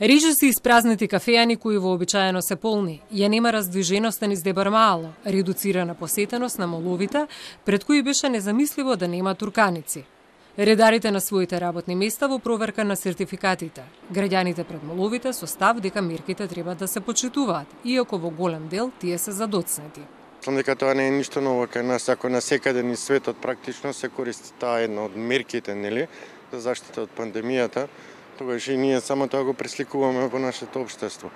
Рижи се испразнети кафејани кои вообичаено се полни. Ја нема раздвиженоста низ Дебармаало, редуцирана посетеност на моловите, пред кои беше незамисливо да нема турканици. Редарите на своите работни места во проверка на сертификатите. Граѓаните пред моловите со став дека мерките треба да се почитуваат, иако во голем дел тие се задоцнети. Мислам дека тоа не е ништо ново кај нас, ако на секаде низ светот практично се користи таа една од мерките, нели, за заштита од пандемијата, тогаш и ние само тоа го пресликуваме во нашето општество.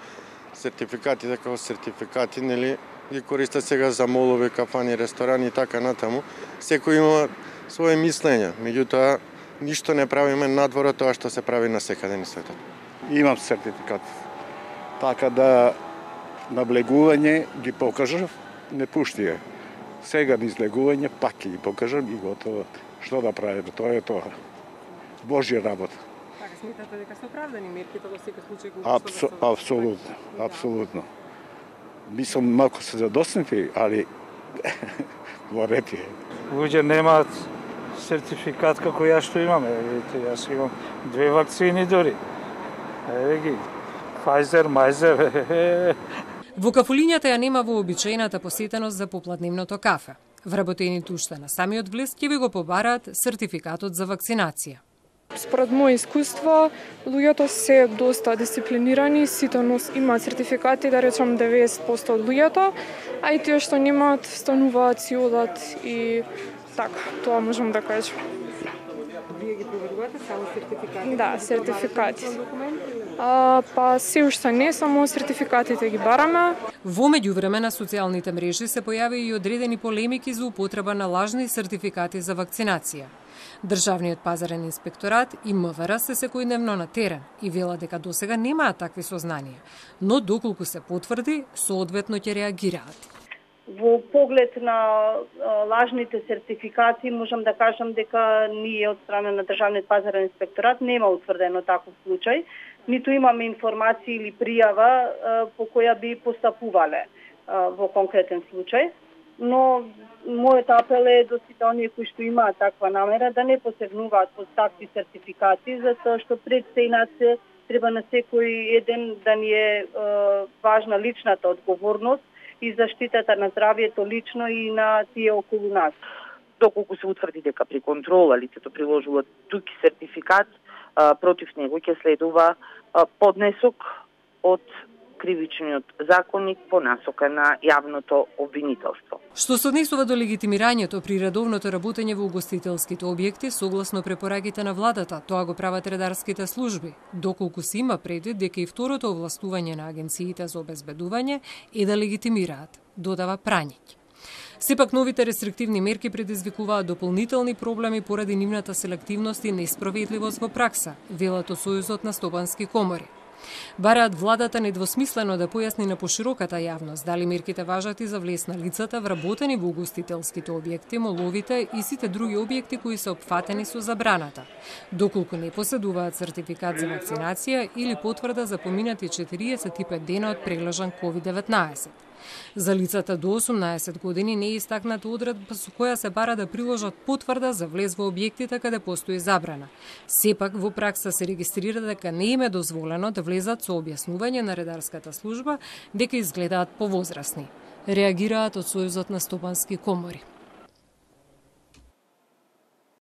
Сертификатите како сертификати, нели, ги користат сега за молови, кафани, ресторани и така натаму. Секој има свое мислење, меѓутоа ништо не правиме надвор од тоа што се прави на секаде низ светот. Имам сертификат. Така да наблегување ги покажав, не пушти е. Сега низ легување пак ги покажам и готово. Што да правиме, тоа е тоа. Божја работа. Така сметате дека се оправдани мерките во секој случај Апсолутно, апсолутно. Мислам малку се задоснати, али во ред е. Луѓе немаат сертификат како ја што имаме. Видите, јас имам 2 вакцини дори. Еве ги. Pfizer, Pfizer. Во кафулињата ја нема вообичаената посетеност за попладневното кафе. Вработените уште на самиот влез ќе ви го побараат сертификатот за вакцинација. Според моје искуство, луѓето се доста дисциплинирани, сите имаат сертификати, да речам 90% од луѓето, а и тие што немаат, стануваат, си одат и така, тоа можам да кажам. Вие ги проверувате само сертификати? Да, сертификати. Па се уште не, само сертификатите ги бараме. Во меѓувреме на социјалните мрежи се појави и одредени полемики за употреба на лажни сертификати за вакцинација. Државниот пазарен инспекторат и МВР се секојдневно на терен и велат дека досега немаат такви сознанија, но доколку се потврди, соодветно ќе реагираат. Во поглед на лажните сертификати, можам да кажам дека ние од страна на Државниот пазарен инспекторат нема утврдено таков случај, ниту имаме информации или пријава по која би постапувале во конкретен случај. Но мојот апел е до сите оние кои што имаат таква намера да не посегнуваат по такви сертификати, затоа што пред се иначе треба на секој еден да ни е важна личната одговорност и заштитата на здравјето лично и на тие околу нас. Доколку се утврди дека при контрола лицето приложува туки сертификат, против него ќе следува поднесок од кривичниот законник по насока на јавното обвинителство. Што се однесува до легитимирањето при редовното работење во угостителските објекти, согласно препораките на владата, тоа го прават редарските служби, доколку се има предвид дека и второто овластување на агенциите за обезбедување е да легитимираат, додава Прањиќ. Сепак новите рестриктивни мерки предизвикуваат дополнителни проблеми поради нивната селективност и несправедливост во пракса, велат од Сојузот на стопански комори. Бараат владата недвосмислено да појасни на пошироката јавност дали мерките важат и за влез на лицата вработени во угостителските објекти, моловите и сите други објекти кои се опфатени со забраната, доколку не поседуваат сертификат за вакцинација или потврда за поминати 45 дена од прележан COVID-19. За лицата до 18 години не е истакната одредба со која се бара да приложат потврда за влез во објектите каде постои забрана. Сепак во пракса се регистрира дека не им е дозволено да влезат со објаснување на редарската служба дека изгледаат повозрасни. Реагираат од Сојузот на стопански комори.